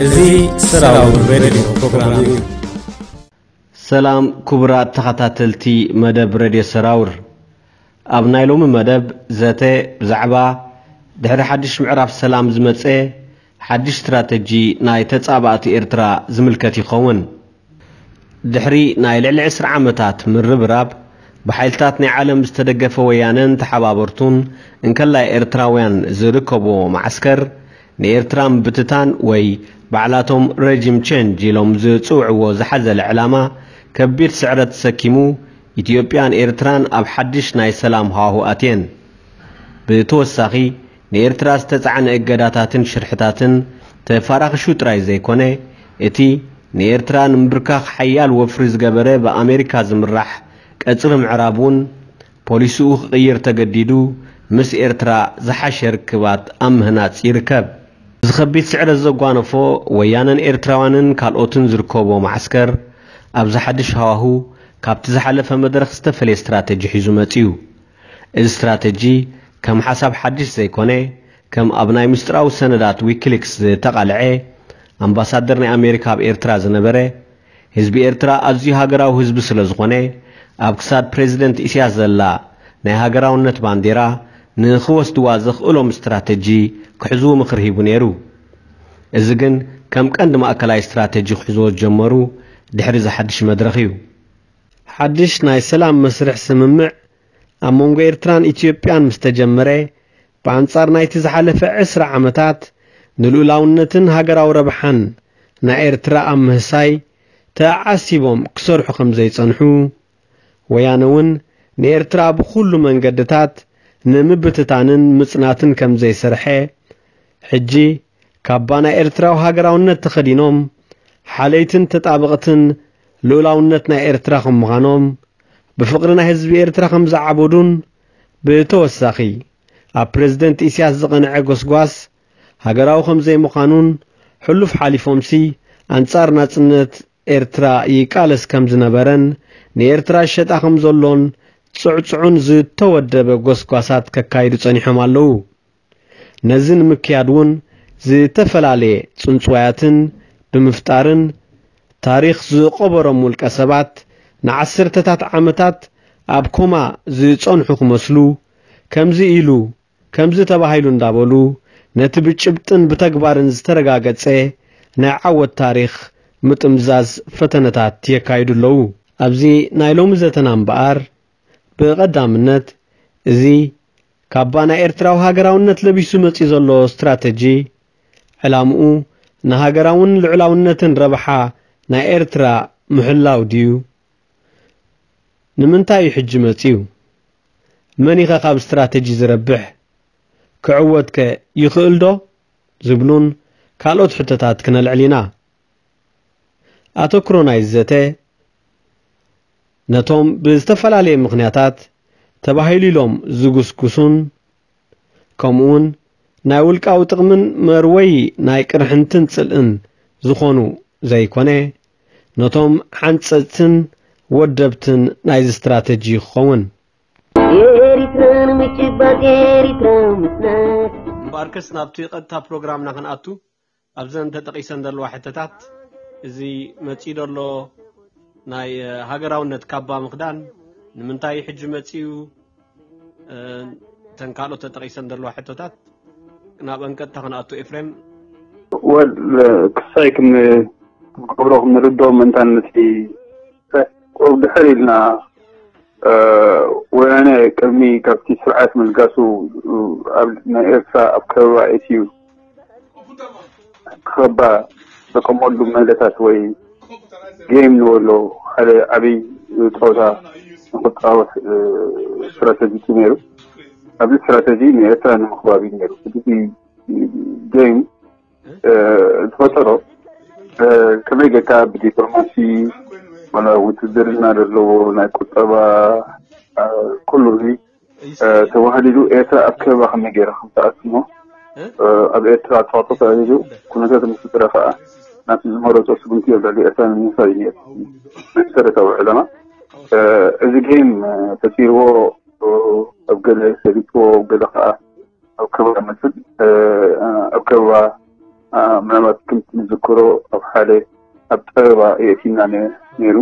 እዚ ሰራውር ሬድዮ ፕሮግራም እዩ። ሰላም ክቡራት ተኸታተልቲ መደብ ሬድዮ ሰራውር፣ ኣብ ናይ ሎሚ መደብ ዘተ ብዛዕባ ድሕሪ ሓድሽ ምዕራፍ ሰላም ዝመጸ ሓድሽ ስትራተጂ ናይ ተጻባእቲ ኤርትራ ዝምልከት ይኸውን። ድሕሪ ናይ ልዕሊ ዕስራ ዓመታት ምርብራብ፣ ብሓይልታት ናይ ዓለም ዝተደገፈ ወያነን ተሓባበርቱን እንከላይ ኤርትራውያን ዝርከብዎ ማዕስከር፣ ንኤርትራ ምብትታን ወይ ባዕላቶም ረጂም ቼንጅ ኢሎም ዝጽውዕዎ ዝሓዘለ ዕላማ ከቢድ ስዕረት ተሰኪሙ፣ ኢትዮጵያን ኤርትራን ኣብ ሓድሽ ናይ ሰላም ሃዋሁ ኣትየን። ብተወሳኺ፣ ንኤርትራ ዝተጻዕነ እገዳታትን ሽርሕታትን ተፋራኽሹ ጥራይ ዘይኮነ፣ እቲ ንኤርትራ ንምብርካኽ ሓያል ወፍሪ ዝገበረ ብኣሜሪካ ዝምራሕ ቀጽሪ ምዕራብ እውን ፖሊሲኡ ክቕይር ተገዲዱ፣ ምስ ኤርትራ ዝሓሸ ርክባት ኣብ ምህናጽ ይርከብ። እዚ ከቢድ ስዕረት ዘጓነፎ፣ ወያነን ኤርትራውያንን ካልኦትን ዝርከቦ ማዕስከር፣ ኣብዚ ሓድሽ ሃዋሁ ካብቲ ዝሓለፈ መድረኽ ዝተፈለየ ስትራተጂ ሒዙ መጺኡ። እዚ ስትራተጂ ከም ሓሳብ ሓድሽ ዘይኮነ፣ ከም ኣብ ናይ ምስጢራዊ ሰነዳት ዊኪሊክስ ዝተቓልዐ፣ ኣምባሳደር ናይ ኣሜሪካ ኣብ ኤርትራ ዝነበረ፣ ህዝቢ ኤርትራ ኣዝዩ ሃገራዊ ህዝቢ ስለ ዝኾነ፣ ኣብ ክሳድ ፕሬዚደንት ኢሳያስ ዘላ ናይ ሃገራውነት ባንዴራ ንኽወስድዋ ዘኽእሎም ስትራተጂ ክሕዝዉ ምኽሪ ሂቡ ነይሩ። እዚ ግን ከም ቀንዲ ማእከላይ ስትራተጂ ክሕዝዎ ዝጀመሩ ድሕሪ እዚ ሓድሽ መድረኽ እዩ። ሓድሽ ናይ ሰላም መስርሕ ስምምዕ ኣብ መንጎ ኤርትራን ኢትዮጵያን ምስ ተጀመረ፣ ብኣንጻር ናይቲ ዝሓለፈ ዕስራ ዓመታት ንልኡላውነትን ሃገራዊ ረብሓን ናይ ኤርትራ ኣብ ምህሳይ ተዓሲቦም ክሰርሑ ከም ዘይጸንሑ፣ ወያነ እውን ንኤርትራ ብኹሉ መንገድታት ንምብትታንን ምጽናትን ከም ዘይሰርሐ፣ ሕጂ ካባ ናይ ኤርትራዊ ሃገራውነት ተኸዲኖም፣ ሓለይትን ተጣበቕትን ልኡላውነት ናይ ኤርትራ ከም ምዃኖም፣ ብፍቕሪ ናይ ህዝቢ ኤርትራ ከም ዝዓበዱን፣ ብተወሳኺ ኣብ ፕረዚደንት ኢሳያስ ዝቐንዐ ጎስጓስ ሃገራዊ ከም ዘይምዃኑን፣ ሕሉፍ ሓሊፎምሲ ኣንጻር ናጽነት ኤርትራ ይቃለስ ከም ዝነበረን፣ ንኤርትራ ይሸጣ ከም ዘሎን ጽዕጹዕን ዝተወደበ ጎስጓሳት ከካይዱ ጸኒሖም ኣለዉ። ነዚ ንምክያድ እውን ዝተፈላለየ ጽንጽዋያትን ብምፍጣርን፣ ታሪኽ ዝቐበሮም ውልቀ ሰባት ንዓሰርተታት ዓመታት ኣብ ኮማ ዝጸንሑ ክመስሉ፣ ከምዚ ኢሉ፣ ከምዚ ተባሂሉ እንዳበሉ፣ ነቲ ብጭብጥን ብተግባርን ዝተረጋገጸ ናይ ዓወት ታሪኽ ምጥምዛዝ ፈተነታት የካይዱ ኣለዉ። ኣብዚ ናይ ሎሚ ዘተና እምበኣር፣ ብቐዳምነት፣ እዚ ካባ ናይ ኤርትራዊ ሃገራውነት ለቢሱ መጺኡ ዘሎ ስትራተጂ፣ ዕላምኡ ንሃገራውን ልዑላውነትን ረብሓ ናይ ኤርትራ ምሕላው ድዩ? ንምንታይ እዩ ሕጂ መጺኡ? መን ኢኸ ካብ ስትራተጂ ዝረብሕ? ክዕወትከ ይኽእል ዶ? ዝብሉን ካልኦት ሕቶታት ክነልዕል ኢና። ኣተኩሮ ናይዚ ዘተ፣ ነቶም ብዝተፈላለየ ምኽንያታት ተባሂሉ ኢሎም ዝጉስጉሱን፣ ከምኡውን ናይ ውልቃዊ ጥቕምን መርወዪ ናይ ቅርሕንትን ጽልእን ዝኾኑ ዘይኮነ፣ ነቶም ሓንጸጽትን ወደብትን ናይዚ ስትራተጂ ክኸውን። ኤሪትራ ንምጭባጥ፣ ኤሪትራ ምጽናት። እምበኣርከስ ናብቲ ቀጥታ ፕሮግራምና ክንኣቱ፣ ኣብዘን ተጠቒሰን ዘለዋ ሕቶታት፣ እዚ መጺኡ ዘሎ ናይ፣ እ፣ ሃገራውነት ካባ ምኽዳን ንምንታይ እዩ ሕጂ መጺኡ? እ፣ እተን ካልኦት ተጠቒሰን ዘለዋ ሕቶታት ናብኣን ቀጥታ ክንኣቱ፣ ኤፍሬም። ወል፣ ክሳይ ክን-፣ ክንገብሮ ክንርድኦ ምእንታን ነቲ ቁሩብ ድሕር ኢልና፣ እ፣ ወያነ ቅድሚ ካብቲ ስርዓት ምልጋሱ፣ እ፣ ኣብ ናይ ኤርትራ ኣብ ከበባ ኣእትዩ ክኸባ ዘቀመሉ ሜላታት ወይ ጌም ንበሎ ሓደ ዓብዪ ጸወታ ንክጻወት፣ እ፣ ስትራተጂ እዩ ነይሩ። ኣብዚ ስትራተጂ ንኤርትራ ንምኽባብ እዩ ነይሩ። እቲ ጌም እ፣ ዝፈጠሮ፣ እ፣ ከመይ ጌርካ ብዲፕሎማሲ፣ ዋላ ውትድርና ዘለዎ፣ ናይ ቁጠባ፣ እ፣ ኩሉ እዚ፣ እ፣ ተዋህሊሉ ኤርትራ ኣብ ከበባ ከመይ ጌራ ከም ትኣቱ እሞ፣ እ፣ ኣብ ኤርትራ ጸቕጢ ተዋሂዱ ኩነታት ምስ ፈጠረ ከኣ ናብቲ ዝመረጾ ስጉምቲ ኣብ ልዕሊ ኤርትራ ንምውሳድ እዩ ነይሩ መሰረታዊ ዕላማ። እ፣ እዚ ጌም፣ እ፣ ፈጢርዎ፣ እ፣ ኣብ ገለ ሰሊጥዎ፣ ኣብ ገለ ከዓ ኣብ ከበባ መስል ኣብ ከበባ ምናልባት ከምቲ ንዝክሮ ኣብ ሓደ ኣብ ጠበባ የእቲና ነይሩ።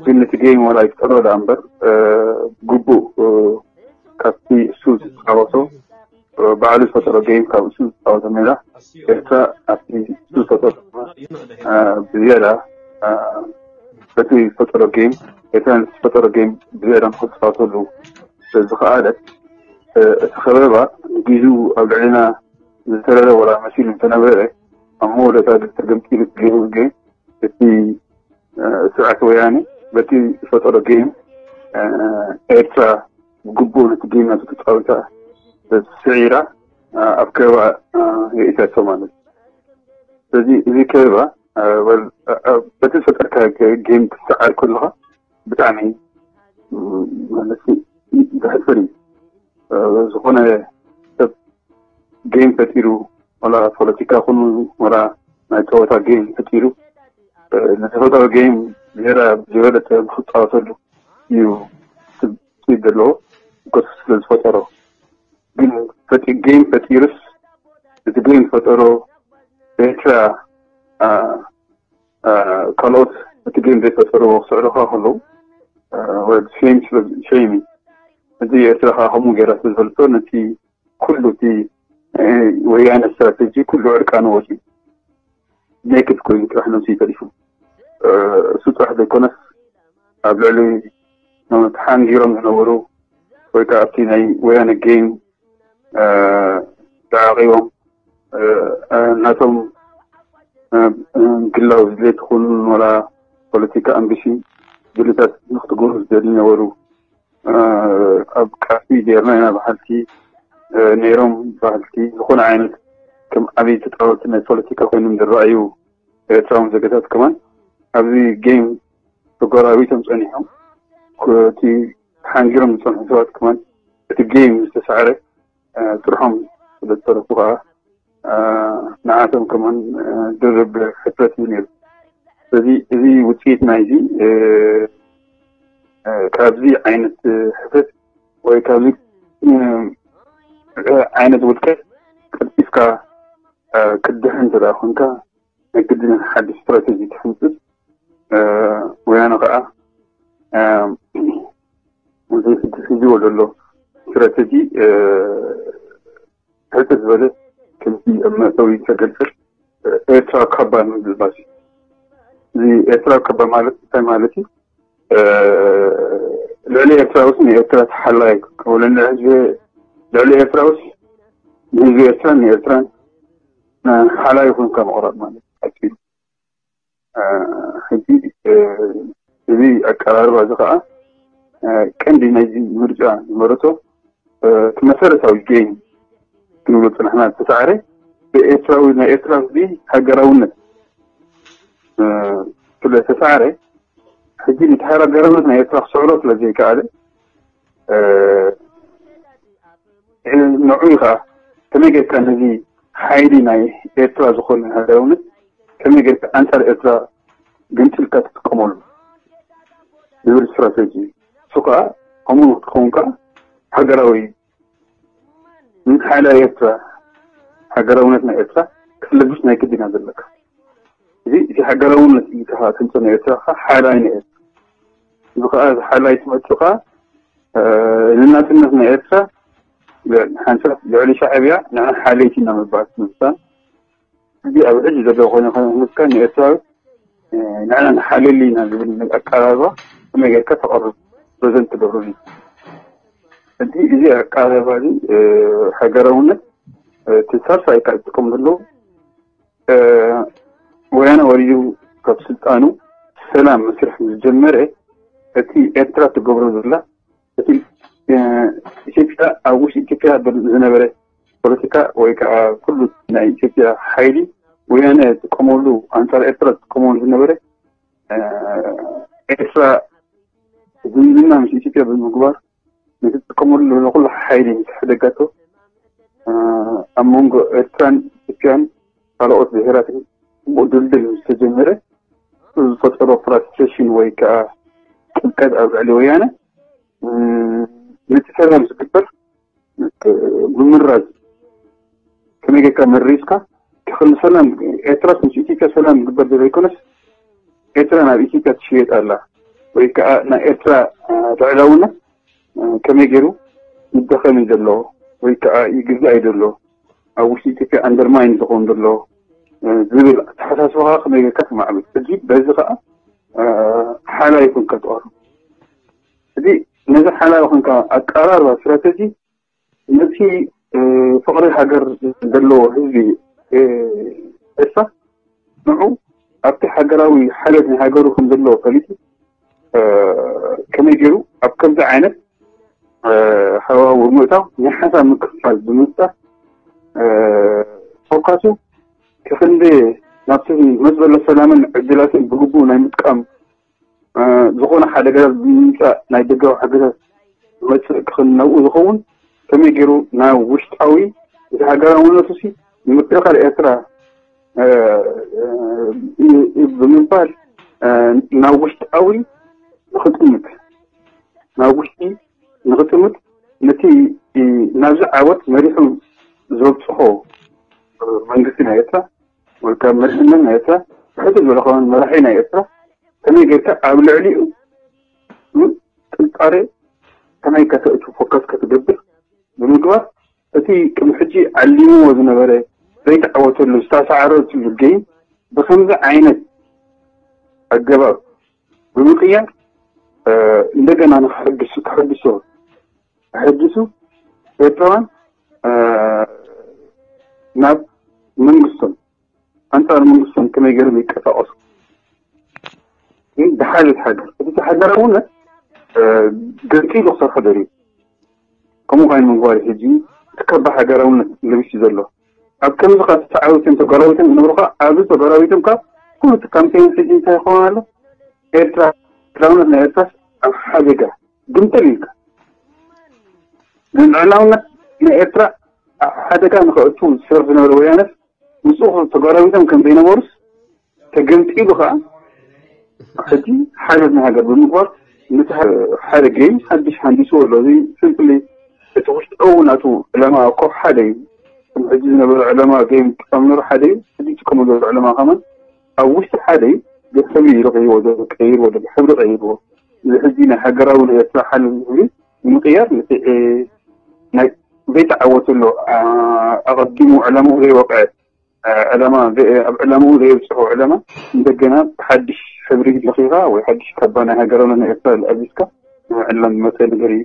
ግን እቲ ጌም ዋላ ይፍጠሮ ዳ እምበር ግቡእ ካብቲ እሱ ዝፃወቶ ባዕሉ ዝፈጠሮ ጌም ካብ እሱ ዝፃወቶ ሜላ ኤርትራ ኣብቲ እሱ ዝፈጠሮ ብዝያዳ በቲ ዝፈጠሮ ጌም ኤርትራ ዝፈጠሮ ጌም ብዝያዳ ንክፃወተሉ ስለዝኸኣለ እቲ ከበባ ንጊዙ ኣብ ልዕሊና ዝተረረ ወላ መሲሉ እንተነበረ ኣብ መወዳእታ ግን ተገምጢሉ ጌም ግን እቲ ስርዓት ወያነ በቲ ዝፈጠሮ ጌም ኤርትራ ግቡእ ነቲ ጌም ናቱ ተፃዊታ ስዒራ ኣብ ከበባ የኢታቶ ማለት እዩ። ስለዚ እዚ ከበባ በቲ ዝፈጠርካ ጌም ክትሰዓር ከለካ ብጣዕሚ ማለት ዘሕፍር እዩ። ዝኾነ ሰብ ጌም ፈጢሩ ወላ ፖለቲካ ኩኑ ወላ ናይ ፀወታ ጌም ፈጢሩ ንዝፈጠሮ ጌም ዝያዳ ዝበለፀ ንክፃወተሉ እዩ ስብ ዘለዎ ከሱ ስለ ዝፈጠሮ ግን ጌም ፈጢሩስ እቲ ጌም ዝፈጠሮ ኤርትራ ካልኦት እቲ ጌም ዘይፈጠርዎ ክስዕሩኻ ከለዉ ሸይሚ ሸይሚ እዚ ኤርትራ ከዓ ከምኡ ገይራ ስለ ዝፈልጦ ነቲ ኩሉ እቲ ወያነ ስትራቴጂ ኩሉ ዕርቃኑ ወፂኡ ኔክድ ኮይኑ ጥራሕ ነብሱ ይተሪፉ። እሱ ጥራሕ ዘይኮነስ ኣብ ልዕሊ ተሓንጊሮም ዝነበሩ ወይ ከዓ ኣብቲ ናይ ወያነ ጌም ተዓቂቦም ናቶም ግላዊ ድሌት ይኹን ወላ ፖለቲካ ኣምቢሽን ድልታት ንክትገብሩ ዝደልዩ ነበሩ። ኣብ ቃልሲ ጌርና ኢና በሃልቲ ነይሮም። በሃልቲ ዝኾነ ዓይነት ከም ዓብዪ ተፃወቲ ናይ ፖለቲካ ኮይኖም ዝረኣዩ ኤርትራውን ዜጋታት ከማን ኣብዚ ጌም ተጎራቢቶም ፀኒሖም። እቲ ተሓንጊሮም ዝፀንሑ ሰባት ከማን እቲ ጌም ዝተሳዕረ ጥርሖም ስለ ዝተረፉ ከዓ ንዓቶም ከማን ድርብ ሕፍረት እዩ ነይሩ። ስለዚ እዚ ውፅኢት ናይዚ ካብዚ ዓይነት ሕፍረት ወይ ካብዚ ዓይነት ውድቀት ቀልጢፍካ ክትድሕን እንተ ደኣ ኮንካ ናይ ግድን ሓድሽ ስትራተጂ ትሕንፅፅ። ወያነ ከዓ እዚ ሕጂ ሒዝዎ ዘሎ ስትራተጂ ሕፅር ዝበለ ከምዚ ኣብ መእተዊ ዝተገልፀ ኤርትራ ካባ ንምልባስ እዩ። እዚ ኤርትራ ካባ ማለት እንታይ ማለት እዩ? ልዕሊ ኤርትራ ውስ ንኤርትራ ተሓላይ ክከውለና ህዝቢ ልዕሊ ኤርትራ ውስ ንህዝቢ ኤርትራን ንኤርትራን ሓላይ ይኹን ካብ ምቕራብ ማለት እዩ። ሕጂ እዚ ኣቀራርባ እዚ ከዓ ቀንዲ ናይዚ ምርጫ ዝመረቶ እቲ መሰረታዊ ጌም ክንብሎ ፅናሕና ዝተሳዕረ ብኤርትራዊ ናይ ኤርትራ ህዝቢ ሃገራውነት ስለ ዝተሳዕረ ሕጂ ነቲ ሃገራውነት ናይ ኤርትራ ክስዕሮ ስለ ዘይከኣለ ንዑ ከዓ ከመይ ጌርካ ነዚ ሓይሊ ናይ ኤርትራ ዝኾነ ሃገራውነት ከመይ ጌርካ ኣንፃር ኤርትራ ገምጢልካ ትጥቀመሉ ዝብል ስትራተጂ እሱ ከዓ ከምኡ ንክትኸውን ከዓ ሃገራዊ ሓይሊ ኤርትራ ሃገራውነት ናይ ኤርትራ ክትለብስ ናይ ግድና ዘለካ እዚ እቲ ሃገራውነት ኢልካ ተምፅኦ ናይ ኤርትራ ከዓ ሓይላይ ናይ ኤርትራ እዚ ከዓ እዚ ሓይላይ ትመፅእ ከዓ ንናፅነት ናይ ኤርትራ ሓንሳብ ልዕሊ ሻዕብያ ንሕና ሓለይቲ ኢና ምባል ምምሳል እዚ ኣብ ሕጂ ዘሎ ኮይኑ ከመስካ ንኤርትራዊ ንሕና ንሓልል ኢና ዝብል ኣቀራርባ ከመይ ጌርካ ተቐርብ ፕሬዘንት ትገብሩ እዩ። እዚ እዚ ኣቀራርባ እዚ ሃገራውነት እቲ ሳልሳይ ካብ ዝጥቀሙ ዘለዉ ወያነ ወሪዱ ካብ ስልጣኑ ሰላም መስርሕ ምስ ጀመረ እቲ ኤርትራ ትገብሮ ዘላ እቲ ኢትዮጵያ ኣብ ውሽጢ ኢትዮጵያ ዝነበረ ፖለቲካ ወይ ከዓ ኩሉ ናይ ኢትዮጵያ ሓይሊ ወያነ ዝጥቀመሉ ኣንፃር ኤርትራ ዝጥቀመሉ ዝነበረ ኤርትራ ዝምድና ምስ ኢትዮጵያ ብምግባር ንትጥቀመሉ ንኩሉ ሓይሊ ምስ ሕደጋቶ ኣብ መንጎ ኤርትራን ኢትዮጵያን ካልኦት ብሄራትን ጽቡቕ ድልድል ምስ ተጀመረ ዝፈጠሮ ፍራስትሬሽን ወይ ከዓ ቅልቀት ኣብ ልዕሊ ወያነ ነቲ ሰላም ዝግበር ምምራዝ፣ ከመይ ጌርካ መሪዝካ ክኽል ሰላም ኤርትራ ምስ ኢትዮጵያ ሰላም ዝግበር ዘይኮነስ ኤርትራ ናብ ኢትዮጵያ ትሽየጥ ኣላ ወይ ከዓ ናይ ኤርትራ ልዕላውነት ከመይ ገይሩ ይደኸም እዩ ዘሎ ወይ ከዓ ይግዛእ እዩ ዘሎ ኣብ ውሽጢ ኢትዮጵያ ኣንደርማይን ዝኸውን ዘሎ ዝብል ኣተሓሳስባኻ ከመይ ጌርካ ትማዕብል። ሕጂ በዚ ከዓ ሓላ ይኹንካ ትቐርብ። እዚ ነዚ ሓላ ይኹንካ ኣቀራርባ ስትራተጂ ነቲ ፍቕሪ ሃገር ዘለዎ ህዝቢ ኤርትራ ንዑ ኣብቲ ሃገራዊ ሓልዮት ናይ ሃገሩ ከም ዘለዎ ፈሊጡ ከመይ ገይሩ ኣብ ከምዚ ዓይነት ሃዋውር ምእታው ናይ ሓሳብ ምክፍፋል ብምፍጣር ፎካሱ ክኽንዲ ናብቲ መፅበሎ ሰላምን ዕድላትን ብግቡእ ናይ ምጥቃም ዝኾነ ሓደጋታት ብምምፃእ ናይ ደጋዊ ሓገዛት ዝመፅእ ክኽንነብኡ ዝኸውን ከመይ ገይሩ ናብ ውሽጣዊ እቲ ሃገራውነቱ ሲ ንምክልኻል ኤርትራ ብምባል ናብ ውሽጣዊ ንክጥምት ናብ ውሽጢ ንክጥምት ነቲ ናብዚ ዓወት መሪሑ ዘብፅሖ መንግስቲ ናይ ኤርትራ ወይ ካብ መሪሕነት ናይ ኤርትራ ብሕቲ ዝበለ ከማን መራሒ ናይ ኤርትራ ከመይ ጌርካ ኣብ ልዕሊኡ ጥርጣሬ ከመይ ከተእቱ ፎከስ ክትገብር ብምግባር እቲ ቅድሚ ሕጂ ዓሊምዎ ዝነበረ ዘይተዓወተሉ ዝተሰዓረትሉ ጌም ብከምዚ ዓይነት ኣገባብ ብምቅያር እንደገና ንክሕድሱ ክሕድሶ ክሕድሱ ኤርትራውያን ናብ መንግስቶም ኣንፃር መንግስቶም ከመይ ገይሮም ይቀሳቀሱ ግን ድሓለት ሃገር እቲ ሃገራውነት ገንፂሉ ክሰርሖ ደልዩ ከምኡ ኮይኑ ምግባር ሕጂ እቲ ከባ ሃገራውነት ለቢሱ ዘሎ ኣብ ከምዚ ካብ ተዓዊቶም ተጎራቢቶም ዝነብሩ ከዓ ኣብዚ ተጎራቢቶም ካብ ኩሉ እቲ ካምፔን ሕጂ እንታይ ይኸውን ኣሎ ኤርትራ ልዕላውነት ናይ ኤርትራ ኣብ ሓደጋ ግምጥል ኢልካ ግን ልዕላውነት ናይ ኤርትራ ኣብ ሓደጋ ንኸእቱ ዝሰርሕ ዝነበረ ወያነት ምስኡ ተጓራቢቶም ከም ዘይነበሩስ ተገምጢሉ ከዓ ሕጂ ሓይለት ናይ ሃገር ብምግባር ነቲ ሓደ ጌም ሓድሽ ሃንዲስዎ ኣሎ። እዚ ስምፕሊ እቲ ውሽጣዊ ናቱ ዕላማ እኮ ሓደ እዩ። ከም ሕጂ ዝነበረ ዕላማ ጌም ጥቀም ነሩ ሓደ እዩ። ሕጂ ጥቀሙ ዘሎ ዕላማ ከማን ኣብ ውሽጢ ሓደ እዩ። ብሕብሪ ኢሉ ቀይርዎ ዘሎ ቀይርዎ ዘሎ ሕብሪ ቀይርዎ። እዚ ሕጂ ናይ ሃገራዊ ንኤርትራ ሓይለት ዝብል ንምቅያር ነቲ ናይ ዘይተዓወተሉ ኣቐዲሙ ዕላምኡ ዘይወቅዐ ዕላማ ኣብ ዕላምኡ ዘየብፅሖ ዕላማ እንደገና ብሓድሽ ሕብሪ ለኺኻ ወይ ሓድሽ ካባ ናይ ሃገራውነት ናይ ኤርትራ ለኣቢስካ ንምዕላም ዝመፀ ነገር እዩ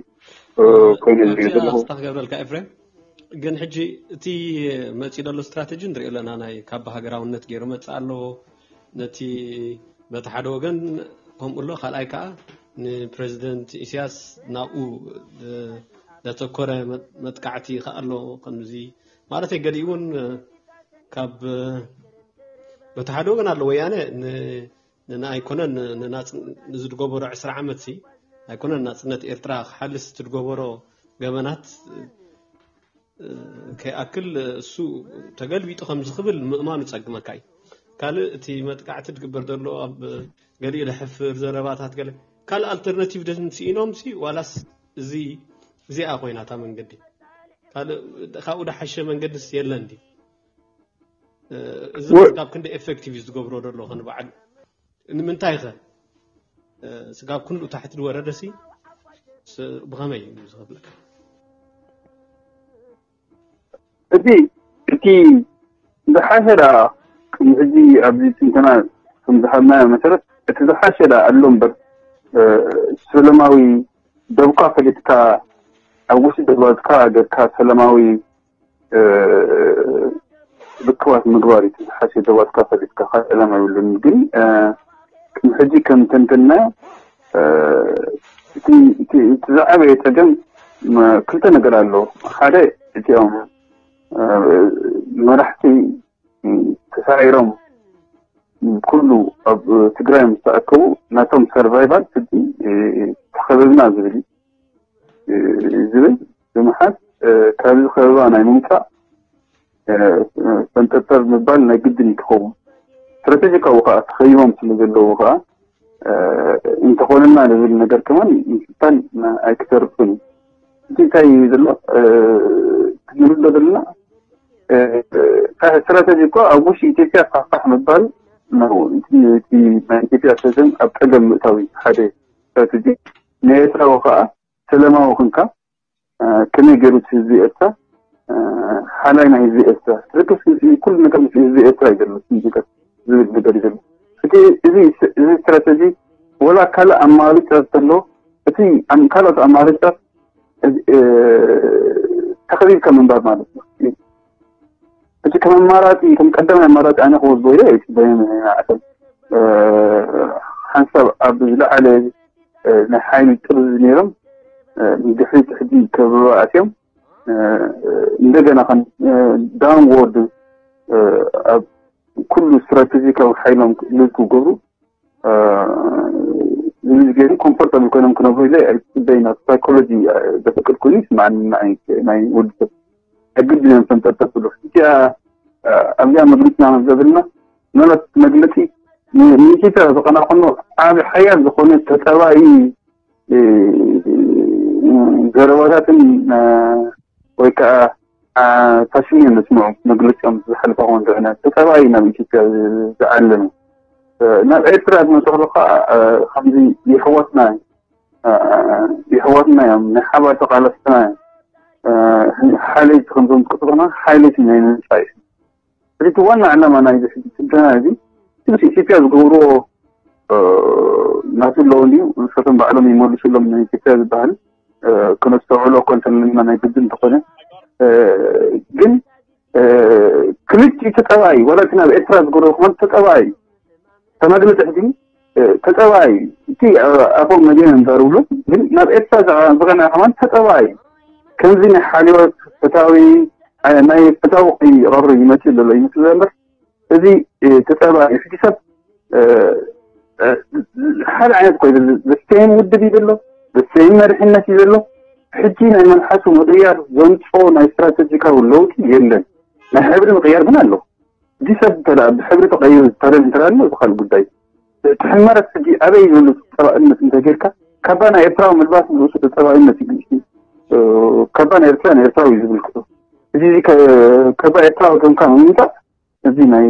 ኮይኑ ዝሪኦ ዘለኹ። ክብረልካ ኤፍሬም፣ ግን ሕጂ እቲ መፂኡ ዘሎ ስትራተጂ ንሪኦ ኣለና። ናይ ካባ ሃገራውነት ገይሩ መፅእ ኣለዎ። ነቲ በቲ ሓደ ወገን ከምኡ ኣሎ፣ ካልኣይ ከዓ ንፕረዚደንት ኢሳያስ ናብኡ ዘተኮረ መጥቃዕቲ ከዓ ኣሎ። ከምዚ ማለት ገሊኡ እውን ካብ በቲ ሓደ ወገን ኣሎ ወያነ ንና ኣይኮነን ንዝድገበሮ ዕስራ ዓመት ሲ ኣይኮነን ናፅነት ኤርትራ ክሓልስ ትድገበሮ ገበናት ከይኣክል እሱ ተገልቢጡ ከምዚ ክብል ምእማኑ ጸግመካ እዩ። ካልእ እቲ መጥቃዕቲ ዝግበር ዘሎ ኣብ ገሊኡ ዘሕፍር ዘረባታት ገለ ካልእ ኣልተርናቲቭ ደን ስኢኖም ሲ ዋላስ እዚ እዚኣ ኮይና እታ መንገዲ ካልእ ካብኡ ደሓሸ መንገድስ የለን ድዩ? እዚ ካብ ክንዲ ኤፌክቲቭ እዩ ዝገብሮ ዘሎ ክንበዓል ንምንታይ ከ ስጋብ ክንኡ ታሕቲ ዝወረደ ሲ ብኸመይ እዩ ዝኸፍለካ? እቲ እቲ ዝሓሸ ደኣ ቅድሚ ሕጂ ኣብዚ ትንተና ከም ዝሃብናዮ መሰረት እቲ ዝሓሸ ደኣ ኣሎ እምበር ሰለማዊ ደብካ ፈሊጥካ ኣብ ውሽጢ ደባትካ ገርካ ሰለማዊ ርክባት ምግባር እዩ ዝሓሸ ደባትካ ፈሊጥካ ካልእ ዕላማ የብሉን ግን ቅድሚ ሕጂ ከም ተንተንናዮ እቲ ዝዓበየ ፀገም ክልተ ነገር ኣሎ ሓደ እቲኦም መራሕቲ ተሳዒሮም ኩሉ ኣብ ትግራይ ምስ ተኣከቡ ናቶም ሰርቫይቫል ሕጂ ተኸበብና ዝብል ዝብል ብምሓዝ ካብዚ ከበባ ናይ ምውፃእ ፈንጠርጠር ምባል ናይ ግድን እዩ ክኸውን ስትራቴጂካዊ ከዓ ተኸይቦም ስለ ዘለዉ ከዓ እንተኾነና ዝብል ነገር ከማን ምፍታን ኣይክተርፍን እዩ እቲ እንታይ እዩ ዘሎ ክንርዶ ዘለና ስትራተጂ እኮ ኣብ ውሽጢ ኢትዮጵያ ፋሕፋሕ ምባል ነው። እቲ ናይ ኢትዮጵያ ሰዘን ኣብ ፀገም ምእታዊ ሓደ ስትራተጂ፣ ንኤርትራዊ ከዓ ሰላማዊ ክንካ ከመይ ገይሩ ህዝቢ ኤርትራ ሓላይ ናይ ህዝቢ ኤርትራ ትርክስ ምስ ኩሉ ነገር ምስ ህዝቢ ኤርትራ እዩ ዘሎ ዝብል ነገር እዩ ዘሎ። እቲ እዚ እዚ ስትራተጂ ወላ ካልእ ኣማራጭ ተሎ እቲ ካልኦት ኣማራጭታት ተኸቢብካ ምንባር ማለት ነው። እቲ ከም ኣማራፂ ከም ቀዳማይ ኣማራፂ ኣነ ክወስዶ ኢለ ኣይፅበየን። ንዓቶም ሓንሳብ ኣብ ዝለዓለ ናይ ሓይሊ ጥርዚ ነይሮም ንድሕሪት ሕጂ ከበባ ኣትዮም እንደገና ከም ዳውንዎርድ ኣብ ኩሉ ስትራቴጂካዊ ሓይሎም ልል ክገብሩ ዝምዝገቡ ኮምፎርታብል ኮይኖም ክነብሩ ኢለ ኣይፅበይን። ኣብ ሳይኮሎጂ ዘፈቅድ ኮይኑ ይስማዓኒ። ናይ ወዲ ሰብ ሕግድ እዮም ተንጠጠፍሉ እቲኣ ኣብዚኣ መግለፅና ዘብልና ምናልባት መግለፂ ንኢትዮጵያ ዝቐናቕኖ ዓብ ሓያል ዝኾነ ተጠባኢ ዘረባታትን ወይ ከዓ ፋሽን እዮም ዝስምዑ። መግለፂኦም ዝሓለፈ ክኾን ዝዕነ ተጠባኢ ናብ ኢትዮጵያ ዝዓለመ ናብ ኤርትራ ዝመፅእሉ ከዓ ከምዚ የሕዋትና የሕዋትና እዮም ናይ ሓባር ተቃለስትና እዮም። ሓለይቲ ከምዞም ዝቅፅሉና ሓለይቲ ናይ ምምፃእ እዩ። ስለዚ ዋና ዕላማ ናይ ዝሕጂ ስልጠና እዚ ምስ ኢትዮጵያ ዝገብርዎ ናቱ ኣለዎ እንዲዩ ንሰቶም ባዕሎም ይመልሱሎም ናይ ኢትዮጵያ ዝበሃል ክነስተውዕሎ እኮ እንተለና ናይ ግድን እንተኾነ ግን ክልቲኡ ተጠባይ ዋላ እቲ ናብ ኤርትራ ዝገብርዎ ክኾን ተጠባይ ተመግለፂ ሕጂ ተጠባይ እቲ ኣፎም መዲና እንዛርብሉ ግን ናብ ኤርትራ ዝቐና ከማን ተጠባይ ከምዚ ናይ ሓሊወት ፈታዊ ናይ ፈታዊ ይቐሩ ይመፅእ ዘሎ ይመስል ዘምበር እዚ ተጠባይ ሕጂ ሰብ ሓደ ዓይነት ኮይ ዘስተይን ውድብ እዩ ዘሎ ዘስተይን መሪሕነት እዩ ዘሎ ሕጂ ናይ መልሓሱ ምቕያር ዘምፅኦ ናይ ስትራተጂካዊ ለውጢ የለን ናይ ሕብሪ ምቕያር ግን ኣሎ እዚ ሰብ እንተ ብሕብሪ ተቐይሩ ዝተረብ እንተ ኣሎ እዚ ካልእ ጉዳይ ትሕመረት ሕጂ ኣበይ ዝብሉ ተፀባእነት እንተ ጌርካ ካባ ናይ ኤርትራዊ ምልባስ ንርእሱ ተፀባእነት እዩ ካባ ናይ ኤርትራ ናይ ኤርትራዊ እዩ ዝብል ክቶ እዚ ከባ ኤርትራዊ ከምካ ምምፃእ እዚ ናይ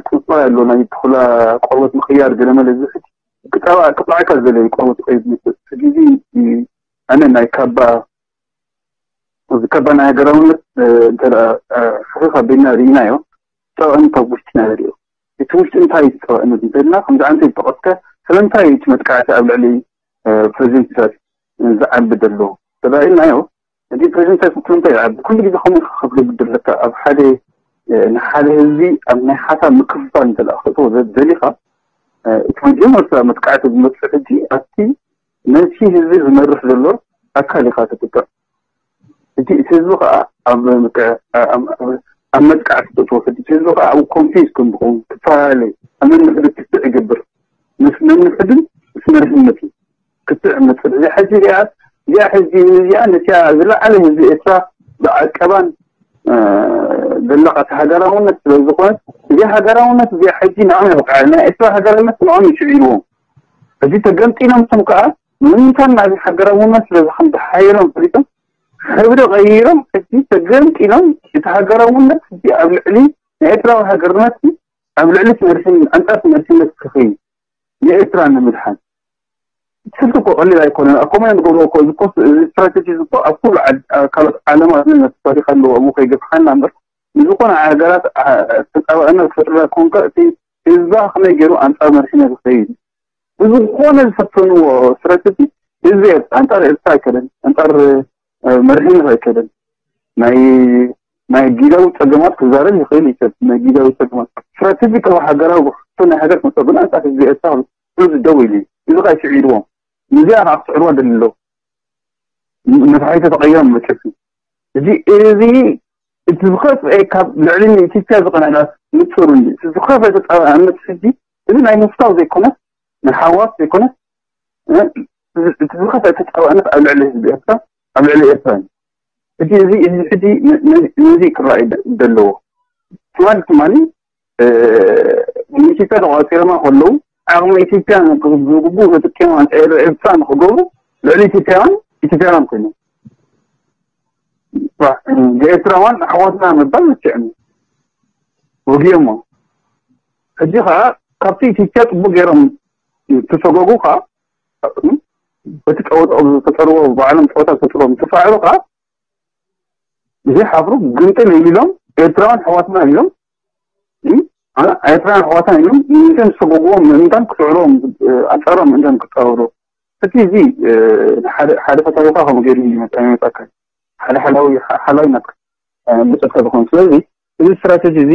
ቁፅባ ያለው ናይ ተኹላ ቆርበት ምኽያር ገለመለ እዚ ሕጂ ክጠባዕ ክጥዓካ ዝደለየ ቆርበት ቀይድ መስል ሕጂ እዚ ኣነ ናይ ካባ እዚ ካባ ናይ ሃገራውነት እንተ ሕኽኽ ኣቢልና ርኢናዮ ፀባእነት ኣብ ውሽጢ ናይ ሪኦ እቲ ውሽጢ እንታይ እዩ ፀባእነት እንተልና ከምዚ ዓንተ ዝጠቐስካ ስለምንታይ እቲ መጥቃዕቲ ኣብ ልዕሊ ፕሬዚደንት ኢሳያስ ዝዓቢ ዘሎ ተባኢልናዮ እዚ ፕሬዚደንት ኢሳያስ ስለምንታይ ይዓቢ ኩሉ ግዜ ከምኡ ከፍለ ግድለካ ኣብ ሓደ ንሓደ ህዝቢ ኣብ ናይ ሓሳብ ምክፍፋል እንተ ክእትዎ ደሊኻ እቲ መጀመርታ መጥቃዕቲ ዝመፅእ ሕጂ ኣብቲ ነቲ ህዝቢ ዝመርሕ ዘሎ ኣካል ኢኻ ትጥቅዕ። እቲ ህዝቢ ከዓ ኣብ ኣብ መጥቃዕቲ ተትወስድ እቲ ህዝቢ ከዓ ኣብ ኮንፊዝ ከም ዝኸውን ክፈላለ ኣብ ነንሕዱ ክትዕ ይገብር ምስ ነንሕድን ምስ መርሕነት እዩ ክትዕ መፅእ እዚ ሕጂ እዚኣ እዚኣ ሕጂ እዚኣ ነቲያ ዝለዓለ ህዝቢ ኤርትራ ብዓቀባን ዘለቃት ሃገራውነት ስለ ዝኾነት እዚ ሃገራውነት እዚ ሕጂ ንዓም የብቃ ናይ ኤርትራ ሃገራውነት ንዓም ይስዒርዎም ሕጂ ተገምጢሎም ስም ከዓ ምንታን ናዚ ሃገራውነት ስለ ዝሓየሎም ፈሊጦም ሕብሪ ቀይሮም ሕጂ ተገምጢሎም እቲ ሃገራውነት ሕጂ ኣብ ልዕሊ ናይ ኤርትራዊ ሃገርነት ኣብ ልዕሊ ትምህርትን ኣንጻር ትምህርትነት ክኸይ ንኤርትራ ንምድሓን ስልቲ እኮ ቀሊል ኣይኮነን። ኣብ ኮመን ንገብሮ እኮ እዚ ኮስ እዚ ስትራቴጂ እዚ እኮ ኣብ ኩሉ ዓድ- ኣብ ካልኦት ዓለማት ዝነት ታሪክ ኣለዎ ኣብኡ ከይገፍሓና እምበር ንዝኾነ ሃገራት አ- ተጻባእና ክፈጥሩላ ኮንካ እቲ ህዝባ ከመይ ገይሩ ኣንጻር መርሒነት ዝኸይድ ብዝኾነ ዝፈተንዎ ስትራቴጂ ህዝቢ ኤርትራ ኣንጻር ኤርትራ ኣይከደን ኣንጻር እ፣ መርሒነት ኣይከደን ናይ ናይ ጊዳዊ ጸገማት ክዛረብ ይኽእል እዩ ሰብ ናይ ጊዳዊ ጸገማት ስትራቴጂካዊ ሃገራዊ ሕቶ ናይ ሃገር ክመፀ ግን ኣንጻር ህዝቢ ኤርትራ ኩሉ ደው ኢሉ እዩ እዚ ካ ይስዒርዎም ንዚኣ ከዓ ክስዕርዋ ደሊ ኣለዉ ነፋሒቶ ተቐይሮም መጨፊ እዚ እዚ እቲ ዝኸፍአ ካብ ልዕሊ ንኢትዮጵያ ዝቐነላ ንፅሩ እቲ ዝኸፍአ ተፃባእነት ሕጂ እዚ ናይ ምፍታው ዘይኮነስ ናይ ሓዋስ ዘይኮነስ እቲ ዝኸፍአ ተፃባእነት ኣብ ልዕሊ ህዝቢ ኤርትራ ኣብ ልዕሊ ኤርትራ እዩ ሕጂ እዚ እዚ ሕጂ ነዚ ክረኣዩ ዘለዎ ትማሊ ትማሊ ንኢትዮጵያ ተቋፂሮማ ከለዉ ዓቕሚ ኢትዮጵያ ዝግቡእ ተጠቂሞም ኣንፃር ኤርትራ ንክገብሩ ልዕሊ ኢትዮጵያውያን ኢትዮጵያውያን ኮይኑ ብኤርትራውያን ኣሕዋትና ምባል መቸዕኒ ወጊኦሞ። ሕጂ ከዓ ካብቲ ኢትዮጵያ ፅቡቅ ገይሮም ተሰጎጉ ከዓ በቲ ጨወታ ዝፈጠርዎ ባዕሎም ጨወታ ዝፈጥርዎ ምትፋዕሉ ከዓ ዘይሓፍሩ ግንጥል ኢሎም ኤርትራውያን ኣሕዋትና ኢሎም ኤርትራውያን ኣሕዋትና ኢሎም ምእንተን ዝሰጎግዎም ምእንታን ክስዕርዎም ኣንፃሮም ምእንተን ክፃወሩ እቲ እዚ ሓደ ፈታዊካ ከምኡ ገይሩ ይመጣ ይመጣካ ሓደ ሓላዊ ሓላዊ ናትካ መፀካ ዝኮኑ ስለዚ እዚ ስትራተጂ እዚ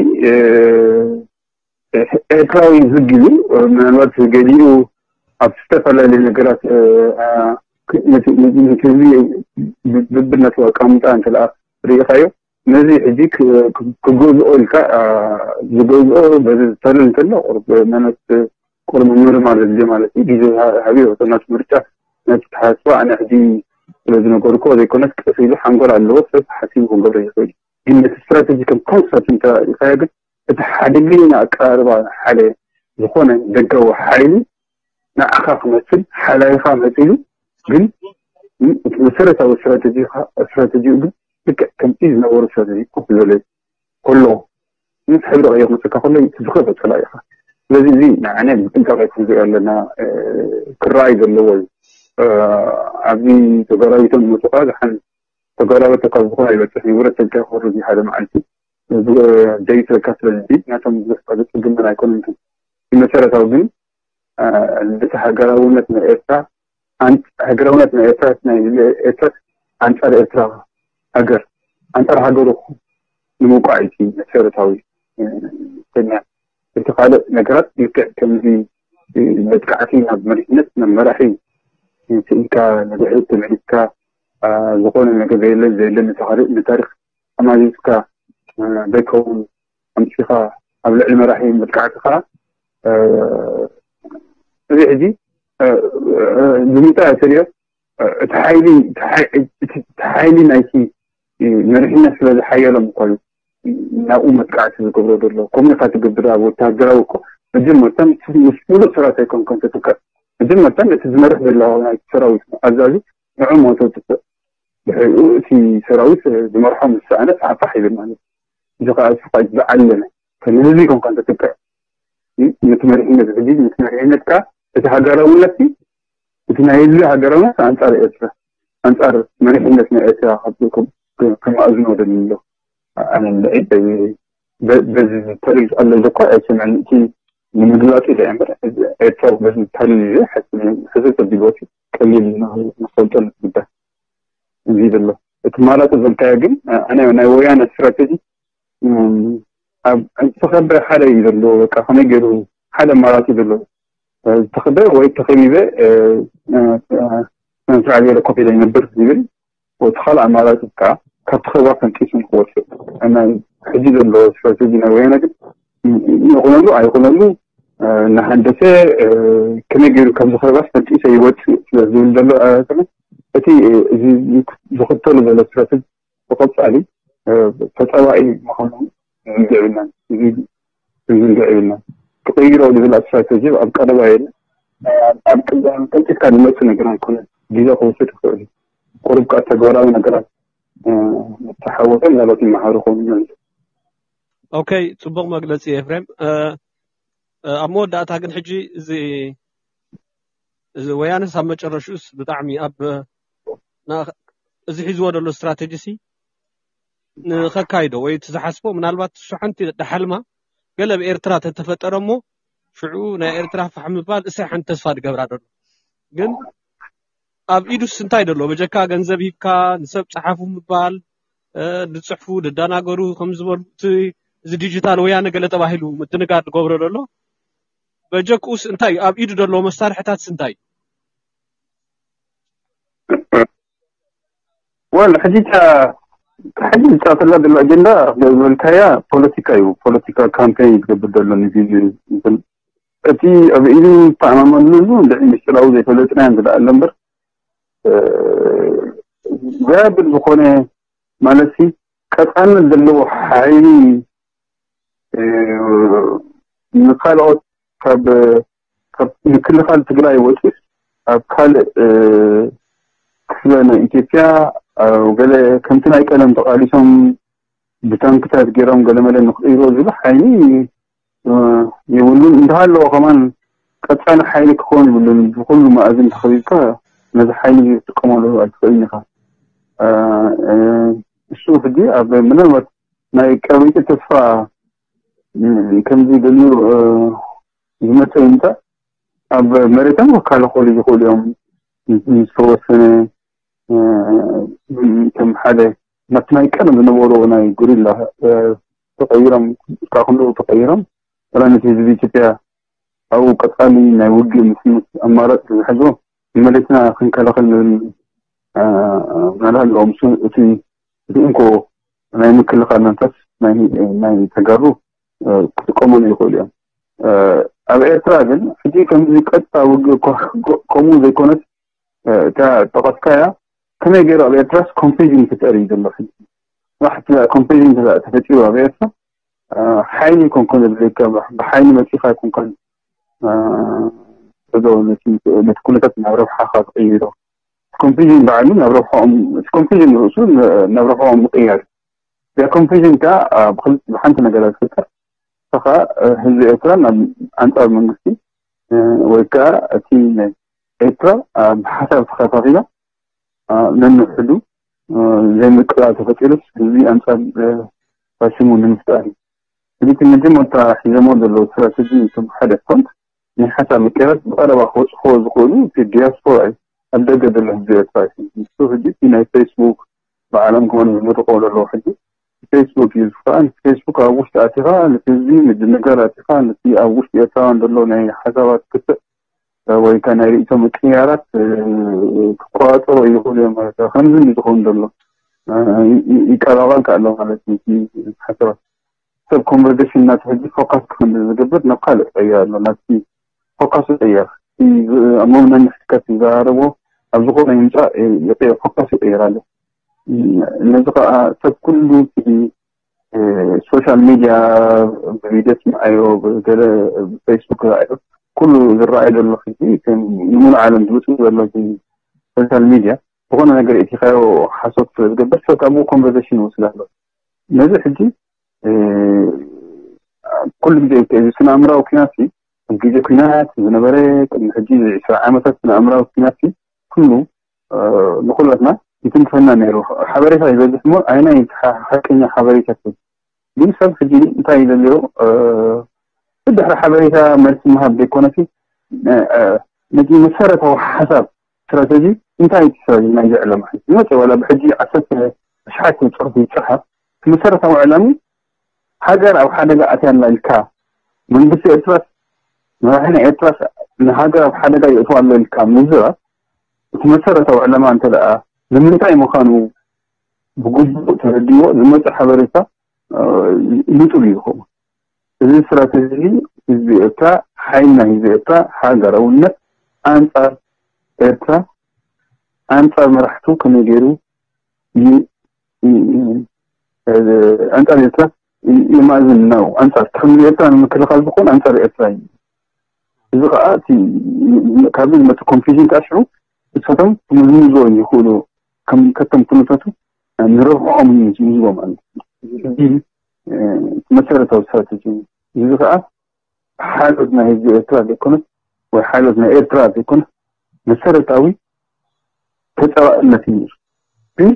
ኤርትራዊ ዝግ ኢሉ ምናልባት ገሊኡ ኣብ ዝተፈላለዩ ነገራት ህዝቢ ብብነቱ ኣቃምጣ እንተ ርኢኻዮ ነዚ ሕጂ ክገዝኦ ኢልካ ዝገዝኦ በዚ ዝተልል እንተሎ ቁርብ ማለት ቁርብ ምርማር ዘድልዮ ማለት እዩ ግዜ ሃብዮ ናት ምርጫ ነቲ ተሓስባ ኣነ ሕጂ ስለ ዝነገርኮ ዘይኮነስ ቀስ ኢሉ ሓንጎል ኣለዎ ሰብ ሓሲቡ ክንገብሮ ይኽእል ግን ነቲ ስትራተጂ ከም ኮንሰፕት እንተ ኢልካዮ ግን እቲ ሓደገኛ ኣቀራርባ ሓደ ዝኾነ ደጋዊ ሓይሊ ንዓኻ ክመስል ሓላይኻ መፂሉ ግን እቲ መሰረታዊ ስትራተጂኡ ግን ልክዕ ከምቲ ዝነበሩ ስትራተጂ ኮፍ ዝበለ ከሎ ምስ ሕብሪ ቀይር መፅካ ከሎ እቲ ዝኸፈ ፀላኢኻ ስለዚ እዚ ንዓነ ብጥንቃቄ ክንሪኦ ኣለና ክረኣይ ዘለዎ እዩ ኣብዚ ተጎራቢቶም ዝመፁ ከዓ ዝሓን ተጎራበተ ካብ ዝኾነ ይበፅሕ ንብረት ተልካ ክወርድ እዩ ሓደ መዓልቲ ዘይስለካ ስለዚ ናቶም ብዙሕ ዝፅግምን ኣይኮኑን መሰረታዊ ግን ልዕሊ ሃገራውነት ናይ ኤርትራ ሃገራውነት ናይ ኤርትራ ናይ ኤርትራ ኣንጻር ኤርትራ ሃገር ኣንጻር ሃገሩ ንምውቃዕ እዩ መሰረታዊ ተኛ እቲ ካልእ ነገራት ልክዕ ከምዚ መጥቃዕቲ ናብ መሪሕነት ናብ መራሒ ስኢልካ ንድሕሪት ተመሊስካ ዝኾነ ነገር ዘየለ ዘየለ ንታሪክ ኣማዚዝካ ዘይከውን ኣምፂኻ ኣብ ልዕሊ መራሒ መጥቃዕቲ ከዓ እዚ ሕጂ ብምንታይ ተሪኦ እቲ ሓይሊ እቲ ሓይሊ ናይቲ መሪሕነት ስለ ዝሓየሎም እኮ እዩ ናብኡ መጥቃዕቲ ዝገብሮ ዘሎ ከምኡ ኢካ ትገብር ኣብ ወታደራዊ እኮ መጀመርታ ምስ ሙሉእ ሰራዊት ኣይኮንኮን ተትውቀዕ መጀመርታ እቲ ዝመርሕ ዘሎ ናይ ሰራዊት ኣዛዚ ንዑ ሞቶ ትስእ ድሕሪኡ እቲ ሰራዊት ዝመርሖ ምስ ሰኣነ ፋሕፋሕ ይብል ማለት እዩ እዚ ከዓ ስቃይ ዝዓለመ ከም ህዝቢ ኮንካ እንተትብቅዕ ነቲ መሪሕነት ሕጂ ነቲ መሪሕነትካ እቲ ሃገራውነት እቲ ናይ ህዝቢ ሃገራውነት ኣንፃር ኤርትራ ኣንፃር መሪሕነት ናይ ኤርትራ ከማእዝኖ ደሊ ኣሎ ኣነ በዚ ተሪር ኣሎ ኢለ እኳ ኣይሰምዕን እቲ ንምግላፅ ኢለ እምበር ኤርትራ በዚ ተሪር ኢለ ሕዚ ተቢልዎት ቀሊል ንፈልጦ ንትግበር እዚ ዘሎ እቲ ማራፂ ዘልካዮ ግን ኣነ ናይ ወያነ ስትራቴጂ ኣብ ዝተኸበ ሓደ እዩ ዘለዎ በቃ ከመይ ገይሩ ሓደ ኣማራፂ ዘለዎ ዝተኸበ ወይ ተኸቢበ ስርዓት ገለ ኮፍ ኢለ ይነብር ዝብል እቲ ካልእ ኣማራፂ ከዓ ካብቲ ከባ ፈንጢሱ ንክወፅእ ሕጂ ዘለዎ ስትራቴጂ ናይ ወያነ ግን ይኹነሉ ኣይኹነሉ እናሃንደሰ ከመይ ገይሩ ካብዚ ከባ ፈንጢሰ ይወፅእ ስለ ዝብል ዘሎ እቲ ዝኽተሉ ዘሎ ስትራቴጂ ብቐፃሊ ተፀባኢ ምዃኑ ዝንግዕ የብልናን ዝንግዕ የብልናን ክቕይሮ ዝብል ስትራቴጂ ኣብ ቀረባ የለ ኣብ ቀልጢፍካ ዝመፅእ ነገር ኣይኮነን ግዜ ክወስድ ይኽእል እዩ ቁሩብ ከዓ ተግባራዊ ነገራት ተሓወሰ ምናልባት ይመሃሩ ከውን ይመልሱ ኦኬ ፅቡቕ መግለፂ ኤፍሬም ኣብ መወዳእታ ግን ሕጂ እዚ እዚ ወያነስ ኣብ መጨረሽኡስ ብጣዕሚ ኣብ እዚ ሒዝዎ ዘሎ ስትራቴጂ ሲ ንኸካይዶ ወይ እቲ ዝሓስቦ ምናልባት እሱ ሓንቲ ደሓልማ ገለ ኣብ ኤርትራ ተተፈጠረ እሞ ሽዑ ናይ ኤርትራ ፋሕ ምባል እሳይ ሓንቲ ተስፋ ዝገብራ ዘሎ ግን ኣብ ኢዱስ እንታይ ዘሎ በጀካ ገንዘብ ሂብካ ንሰብ ፀሓፉ ምባል ዝፅሕፉ ዝደናገሩ ከም ዝበሉ እቲ እዚ ዲጂታል ወያነ ገለ ተባሂሉ ምድንጋር ዝገብሮ ዘሎ በጀክኡስ እንታይ እዩ ኣብ ኢዱ ዘለዎ መሳርሕታትስ እንታይ ወል ሕጂ ሕጂ ዝፃፈላ ዘሎ ኣጀንዳ ዝበልካያ ፖለቲካ እዩ ፖለቲካ ካምፔን ዝገብር ዘሎ ንግዜ እቲ ኣብ ኢዱ ዝተኣማመንሉ ልዕሊ ምስጢራዊ ዘይፈለጥና እዮም ዝለኣለ እምበር ዘብል ዝኾነ ማለት ቀፃልነት ዘለዎ ሓይሊ ንካልኦት ካብ ምክልኻል ትግራይ ወፂእ ኣብ ካልእ ክፍለ ናይ ኢትዮጵያ፣ ገለ ከምቲ ናይ ቀደም ተቓሊሶም ብታንክታት ገይሮም ገለመለ ንክቕይሮ ዝብል ሓይሊ የብሉን። እንተሃለዎ ከማን ቀፃሊ ሓይሊ ክኸውን ይብሉን። ብኩሉ መኣዝን ተኸቢብካ ነዚ ሓይሊ ክትጥቀመሉ ኣይትኽእልን ኢኻ። እሱ ሕጂ ኣብ ምናልባት ናይ ቀበይቲ ተስፋ ከምዚ ደልዩ ዝመፀ ይምፃእ፣ ኣብ መሬቶም ክከላኸሉ ይኽእሉ እዮም። ዝተወሰነ ከም ሓደ ናብቲ ናይ ቀደም ዝነበሩ ናይ ጉሪላ ተቐይሮም፣ ካብ ክንድኡ ተቐይሮም፣ ዋላ ነቲ ህዝቢ ኢትዮጵያ ኣብኡ ቀፃሊ ናይ ውግእ ምስምስ ኣማራፂ ዝሕዞ ንመሬትና ክንከላኸል ንብል ምናልባት ኣለዎም። እቲ እቲ እንኮ ናይ ምክልኻል መንፈስ ናይ ተጋሩ ክጥቀመሉ ይኽእሉ እዮም። ኣብ ኤርትራ ግን ሕጂ ከምዚ ቀጥታ ውግእ ከምኡ ዘይኮነስ፣ እታ ጠቐስካያ ከመይ ገይሩ ኣብ ኤርትራስ ኮንፊዥን ክፈጥር እዩ ዘሎ። ሕጂ ዋሕቲ ኮንፊዥን ተፈጢሩ ኣብ ኤርትራ ሓይሊ ይኮንኮን ዘድልየካ፣ ብሓይሊ መፂኻ ኣይኮንካን ዶ ነቲ ኩነታት ናብ ረብሓኻ ትቕይሮ። ኮንፊዥን ባዕሉ ናብ ረብሓኦም፣ ኮንፊዥን ርእሱ ናብ ረብሓኦም ምቕያር። እዛ ኮንፊዥን ከዓ ብሓንቲ ነገራት ዝፍጠር፣ እኻ ህዝቢ ኤርትራ ናብ ኣንፃር መንግስቲ ወይ ከዓ እቲ ኤርትራ ብሓሳብ ተኸፋፊላ ነንሕዱ ዘይምቅላል ተፈጢሩስ ህዝቢ ኣንፃር ፋሽሙ ንምፍጣር እዩ። ስለዚ መጀመርታ ሒዘሞ ዘለዉ ስትራተጂ እቶም ሓደ ፍሮንት ናይ ሓሳብ ምቅያራት ብቐረባ ክበፅሕዎ ዝኽእሉ እቲ ዲያስፖራ እዩ። ኣብ ደገ ዘሎ ህዝቢ ኤርትራ እዩ። ንሱ ሕጂ እቲ ናይ ፌስቡክ ብዓለም ክኾኑ ዝምርቆ ዘለዉ ሕጂ ፌስቡክ እዩ ዝኽኣል። ፌስቡክ ኣብ ውሽጢ ኣቲኻ ነቲ ህዝቢ ምድንጋር ኣቲኻ ነቲ ኣብ ውሽጢ ኤርትራውያን ዘሎ ናይ ሓሳባት ክትዕ ወይ ከዓ ናይ ርእይቶ ምቅያራት ክቆፃፀሩ ይኽእሉ እዮም ማለት እዩ። ከምዚ ዝኸውን ዘሎ ይቀላቐል ኣሎ ማለት እዩ። ሓሳባት ሰብ ኮንቨርሴሽን እናተፈጂ ፎካስ ክኽንዲ ዝገብር ናብ ካልእ ቀይር ኣሎ። ናብቲ ፎካስ ይቀየር። ኣብ መምነን ሕትከት ይዘራረቦ ኣብ ዝኾነ ይምፃእ ይቀየር፣ ፎካስ ይቀየር ኣሎ። ነዚ ከዓ ሰብ ኩሉ ሶሻል ሚድያ ብቪድዮ ትምዓዮ፣ ገለ ብፌስቡክ ዝረኣዮ ኩሉ ዝረኣዩ ዘሎ ሕጂ ንሙሉ ዓለም ዝብፅእ ዘሎ ሶሻል ሚድያ ዝኾነ ነገር እቲኻዮ ሓሶት ስለ ዝገብር ሰብ ካብኡ ኮንቨርሴሽን ይወስድ ኣሎ። ነዚ ሕጂ ኩሉ ግዜ እዚ ስነ ኣእምራዊ ኩናት ግዜ ኩናት ዝነበረ ቅድሚ ሕጂ ዕስራ ዓመታት ስነ ኣእምራዊ ኩናት ኩሉ ንኩላትና ይትንክፈና ነይሩ። ሓበሬታ ይበዝሕ እሞ ኣይናይ ሓቀኛ ሓበሬታ ግን ሰብ ሕጂ እንታይ ይደልዮ ብድሕሪ ሓበሬታ መልሲ ምሃብ ዘይኮነሲ ነቲ መሰረታዊ ሓሳብ ስትራተጂ እንታይ እቲ ስትራተጂ ናይ ዘዕለማ ዝመፀ ዋላ ብሕጂ ዓሰርተ ኣሽሓት ፅሑፍ ይፅሓፍ መሰረታዊ ዕላሚ ሃገር ኣብ ሓደጋ ኣትያ ኣላ ኢልካ መንግስቲ ኤርትራስ መራሒ ናይ ኤርትራስ ንሃገር ኣብ ሓደጋ የእትዋ ኣሎ ኢልካ ምዝራብ እቲ መሰረታዊ ዕላማ እንተ ደኣ ንምንታይ ምዃኑ ብግቡእ ተረዲዎ ዝመፅእ ሓበሬታ ንጹር እዩ ዝኸውን። እዚ ስትራተጂ ህዝቢ ኤርትራ ሓይልና ህዝቢ ኤርትራ ሃገራውነት ኣንጻር ኤርትራ ኣንጻር መራሕቱ ከመይ ገይሩ ኣንጻር ኤርትራ ይማእዝን ነው ኣንጻር ከም ኤርትራ ንምክልኻል ዝኾን ኣንጻር ኤርትራ እዩ። እዚ ከዓ ካብዚ ዝመፅእ ኮንፊዥን ከዓ ሽዑ እሳቶም ክምዝምዝዎ ይኽእሉ ከም ከቶም ኩነታቱ ንረብሕኦም እዩ ዝምዝዎ ማለት እዩ። መሰረታዊ ስትራተጂ እዩ። እዚ ከዓ ሓይሎት ናይ ህዝቢ ኤርትራ ዘይኮነስ ወይ ሓይሎት ናይ ኤርትራ ዘይኮነስ መሰረታዊ ተፃባእነት እዩ። ግን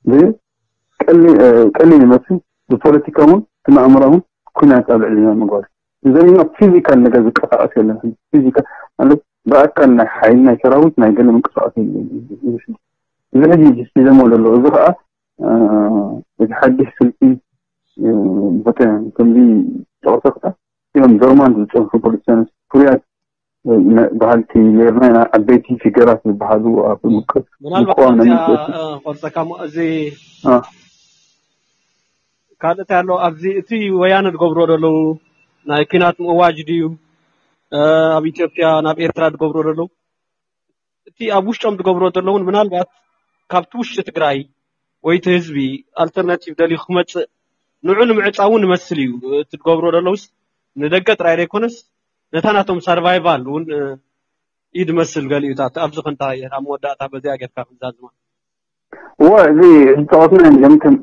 ብቀሊል ይመስል ብፖለቲካ እውን ብኣእምሮ እውን ኩናት ኣብ ልዕሊና ምግባር ዘሪና ፊዚካል ነገር ዝንቀሳቀስ የለን። ፊዚካል ማለት ብኣካል ናይ ሓይሊ ናይ ሰራዊት ናይ ገለ ምንቅስቃስ የለን። እዚ ሕጂ ሒዘሞ ዘሎ እዚ ከዓ እቲ ሓድሽ ስልቲ ከምዚ ጠቕሰ ከዓ እዮም ዶርማንት ዝፀንሑ ፖለቲካኖች ፍሩያት በሃልቲ ነርና ኢና። ዓበይቲ ፊገራት ዝበሃሉ ኣብ ምናልባት ምቅዋም ናይ እዚኣ መንግስቲ ቆርፀካ እዚ ካልእ እንታይ ኣሎ ኣብዚ እቲ ወያነ ዝገብሮ ዘለዉ ናይ ኪናት ምእዋጅ ድዩ ኣብ ኢትዮጵያ ናብ ኤርትራ ዝገብሮ ዘለዉ እቲ ኣብ ውሽጦም ዝገብሮ ዘለውን ምናልባት ካብቲ ውሽጢ ትግራይ ወይ እቲ ህዝቢ ኣልተርናቲቭ ደልዩ ክመፅእ ንዑ ንምዕፃው እውን ይመስል እዩ እቲ ዝገብሮ ዘለውስ ንደገ ጥራይ ዘይኮነስ ነታ ናቶም ሰርቫይቫል እውን ኢድ መስል ገሊኡታት ኣብዚ ክንታ እየን ኣብ መወዳእታ በዚኣ ጌርካ ክንዛዝማ። እወ፣ እዚ ዝተቐስና እዮም ከም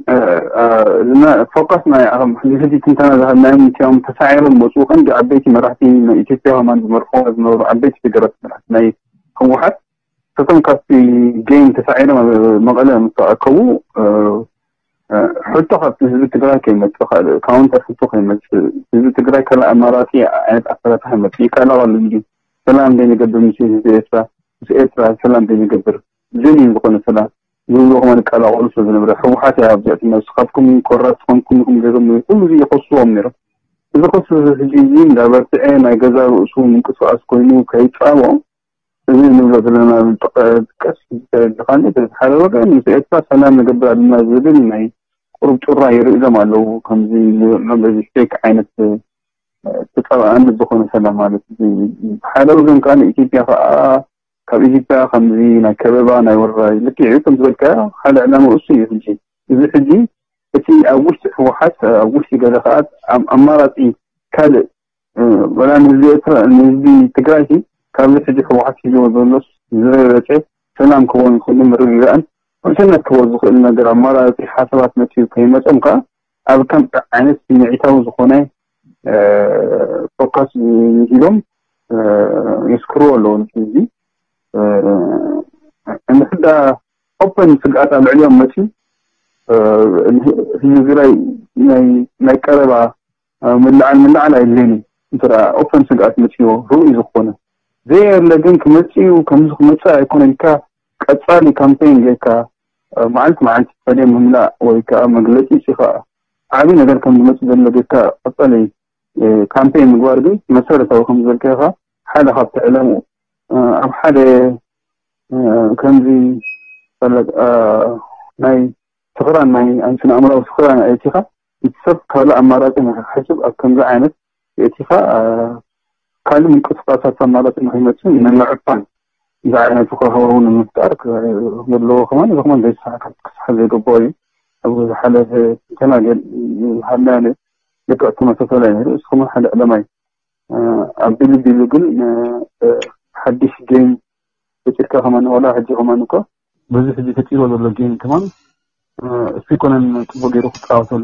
ፎካስ ናይ ሕዚ ሕጂ ትንተና ዝሃብናዮም እቲኦም ተሳዒሮም ዝመፅኡ ቀንዲ ዓበይቲ መራሕቲ ናይ ኢትዮጵያ ከማን ዝመርሕዎ ዝነበሩ ዓበይቲ ፊደራት መራሕቲ ናይ ህወሓት እቶም ካብቲ ጌም ተሳዒሮም ኣብ መቐለ ምስ ተኣከቡ ሕቶ ካብቲ ህዝቢ ትግራይ ከይመፅእ ካልእ ካውንተር ሕቶ ከይመፅእ ህዝቢ ትግራይ ካልእ ኣማራፂ ዓይነት ኣፈታትሓ ይመፅእ ይከላቐሉ እንዲ ሰላም ዘይንገብር ምስ ህዝቢ ኤርትራ ምስ ኤርትራ ሰላም ዘይንገብር ጀኒን ዝኾነ ሰላም ዝብሉ ከማን ይቀላቐሉ ስለ ዝነበረ ህወሓት እያ ኣብዚኣ ትመልስ ካብኩም ኮራት ዝኾንኩም ኢኹም ገይሮም ኩሉ እዚ ይኸስዎም ነይሮም እዚ ክሱ ሕጂ እዚ እንዳበርትዐ ናይ ገዛ ርእሱ ምንቅስቃስ ኮይኑ ከይፃቦ እዚ ንብሎ ዘለና ቀስ ተረድኻኒ በዚ ሓደ ወገን ምስ ኤርትራ ሰላም ንገብር ኣለና ዝብል ናይ ቁሩብ ጩራ ይርእሎም ኣለዉ ከምዚ ንብሎም በዚ ፌክ ዓይነት ተፃባኣኒ ዝኾነ ሰላም ማለት እዩ ሓደ ወገን ከዓ ንኢትዮጵያ ከዓ ካብ ኢትዮጵያ ከምዚ ናይ ከበባ ናይ ወረራ ልክዕ እዩ ከም ዝበልካዮ ሓደ ዕላማ እሱ እዩ ሕጂ እዚ ሕጂ እቲ ኣብ ውሽጢ ህወሓት ኣብ ውሽጢ ገለ ከዓ ኣማራፂ ካልእ ወላ ንህዝቢ ኤርትራ ንህዝቢ ትግራይ ሲ ካብዚ ሕጂ ህወሓት ሒዝዎ ዘሎስ ዝበለፀ ሰላም ክህቦ ዝኽእሉ ምርግጋእን ውሕስነት ክህቦ ዝኽእል ነገር ኣማራፂ ሓሳባት መፅኡ ከይመፀም ከዓ ኣብ ከም ዓይነት ስምዒታዊ ዝኾነ ፎካስ ሂቦም የስክርዎ ኣለዎ ንዚ እንድሕዳ ኦፐን ስግኣት ኣብ ልዕሊኦም መፅዩ ህዝቢ ትግራይ ናይ ቀረባ ምልዓል ምልዓል ኣይድልየን እዩ እንተ ኦፐን ስግኣት መፅዎ ርኡይ ዝኾነ ዘየለ ግን ክመፅእ እዩ ከምዚ ክመፅእ ኣይኮነ ኢልካ ቀፃሊ ካምፔን ጌርካ መዓልቲ መዓልቲ ስታድየም ምምላእ ወይ ከዓ መግለፂ ሲኻ ዓብዪ ነገር ከም ዝመፅእ ዘሎ ጌርካ ቀፃሊ ካምፔን ምግባር ግን መሰረታዊ ከም ዝበልካዮ ከዓ ሓደ ካብቲ ዕላምኡ ኣብ ሓደ ከምዚ ፈለጥ ናይ ስኽራን ናይ ኣንስን ኣእምራዊ ስኽራን ኣእቲኻ እቲ ሰብ ካልእ ኣማራፂ ንክሕስብ ኣብ ከምዚ ዓይነት የእቲኻ ካልእ ምንቅስቃሳት ኣማራፂ ንክይመፅእ ንምዕፋን እዚ ዓይነት ሃዋሁ ንምፍጣር ዘለዎ ከማን እዚ ከማን ዘይተሳካ ክስሓብ ዘይገበኦ እዩ ኣብ ዝሓለፈ ተናገል ዝሃብናዮ ልክዕ ተመሳሳሊ ነይሩ እዚ ከማን ሓደ ዕለማ እዩ ኣብ ቢሉ ቢሉ ግን ሓድሽ ጌም ፈጢርካ ከማን ዋላ ሕጂ ከማን እኮ በዚ ሕጂ ፈጢርዎ ዘሎ ጌም ከማን እሱ ይኮነን ፅቡቅ ገይሩ ክፃወተሉ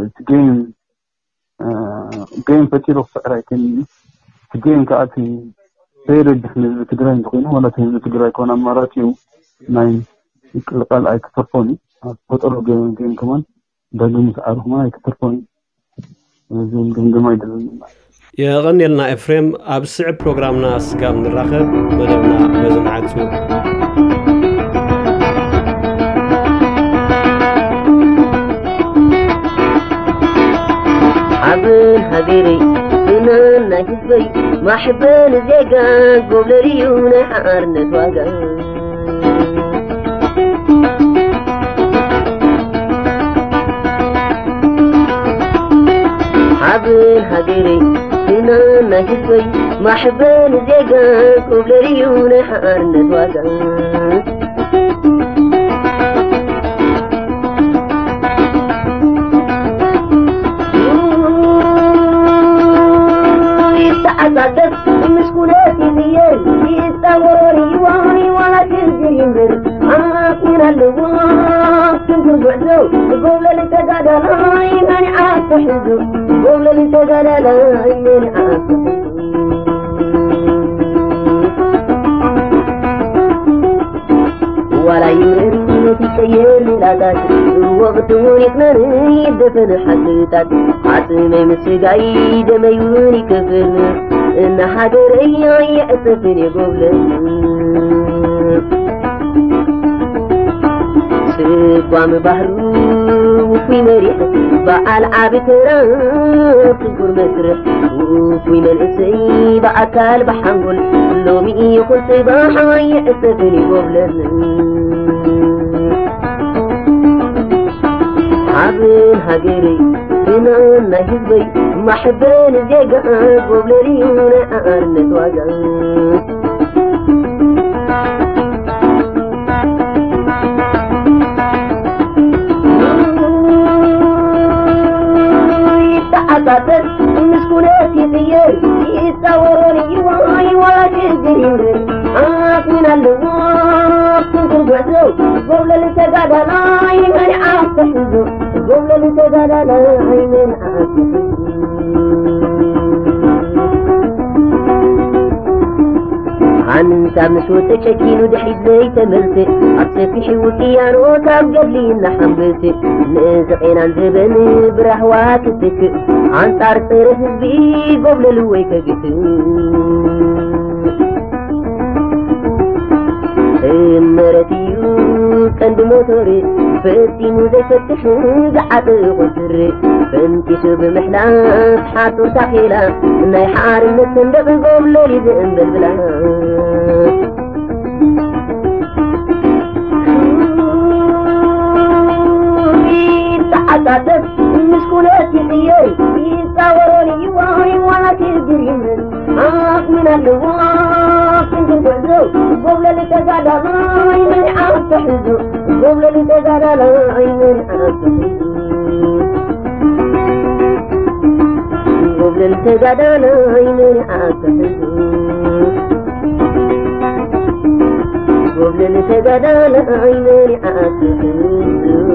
እቲ ጌም ጌም ፈጢሩ ክስዕር ኣይክእልን እዩ እቲ ጌም ከዓ እቲ ዘይረብሕ ንህዝቢ ትግራይ እንተኮይኑ ዋላ እቲ ህዝቢ ትግራይ ከሆነ ኣማራፂ እዩ ናይ ምቅልቃል ኣይክተርፎን እዩ ኣብ ፈጠሮ ጌም ከማን ዳግም ምስዓሩ ከማን ኣይክተርፎን እዩ ዝብል ግምገማ ይደለኒ ማለት እዩ። የቐንየልና ኤፍሬም፣ ኣብ ስዕብ ፕሮግራምና ስጋብ ንራኸብ መደብና በዚ ንዓጹ። ሓበን ሃገረይ፣ ፍናን ናይ ህዝበይ፣ ማሕበን ዜጋ፣ ጎብለል እዩ ናይ ሓርነት ዋጋ። ሓበን ሃገረይ፣ ፍናን ናይ ህዝበይ፣ ማሕበን ዜጋ፣ ጎብለል እዩ ናይ ሓርነት ዋጋ። ይተዓጻጸፍ ምስ ኩነት ይቕየር ይጻወር ይዋን ዋላ ሽግር ይንበር ዓቕሚን ኣለዎ ስንኩር ጉዕዞ ጎብለል ተጋዳላይ መን ይዓርፎ ሕዙ ጎብለል ተጋዳላይ መን ይዓርፎ ሕዙ ዋላ ይምረር ይቀየር ሜላታት ወቕቲ እውን ይቕነር ይደፈን ሓድታት ዓፅመይ ምስጋይ ደመይ እውን ይከፍል እና ሃገረይ ኣይዕፀፍን የጎብለል ስጓም ባህሩ ውፉይ መሪሕ በዓል ዓቢ ተራ ስጉር መስርሕ ውፉይ መንእሰይ ብኣካል ብሓንጎል ሎሚ ይኹን ጽባሕ ኣይዕሰብን ይጎብለል ሓበን ሃገረይ ፍናን ናይ ህዝበይ ማሕበን ዜጋ ጎብለል እዩ ናይ ኣርነት ዋጋ ይተዓጻጸፍ ምስ ኩነት ይቕየር ይጻወሮን ይዋይ ዋላ ኣኽሚና ኣለዎ ክንክን ጉዕዞ ጎብለል ተጋዳላይ መሪዓ ተሕዞ ጎብለል ተጋዳላይ መሪዓ ተሕዞ ሓንሳብ ምስ ወፀ ጨኪኑ ድሕሪት ዘይተመልሰ ኣብ ሰፊሕ ውቅያኖስ ኣብ ገድሊ እናሓንበሰ ንእዚ ቄናን ዘበን ብራህዋ ክትክእ ኣንጻር ፀረ ህዝቢ ጎብለል ወይ ከግትእ እመረት እዩ ቀንዲ ሞቶር ፈጺሙ ዘይፈትሕ ዝዓጠ ቁስር ፈንጢሱ ብምሕላፍ ሓጹር ታኼላ ናይ ሓርነት ሰንደቕ ጎብለል እዩ ዘንበልብላ ይተዓጻጸፍ ምስ ኩነት ይቕየር ይጻወሮን እዩ ዋይ ዋላ ክግር ይምር ኣኽምን ኣለዎ ክንክን ጉዕዞ ጎብለል ተጋዳላይ መሪዓት ተሕዞ ጎብለል ተጋዳላይ መሪዓት ተሕዞ ጎብለል ተጋዳላይ መሪዓት ተሕዞ ጎብለል ተጋዳላይ መሪዓት ተሕዞ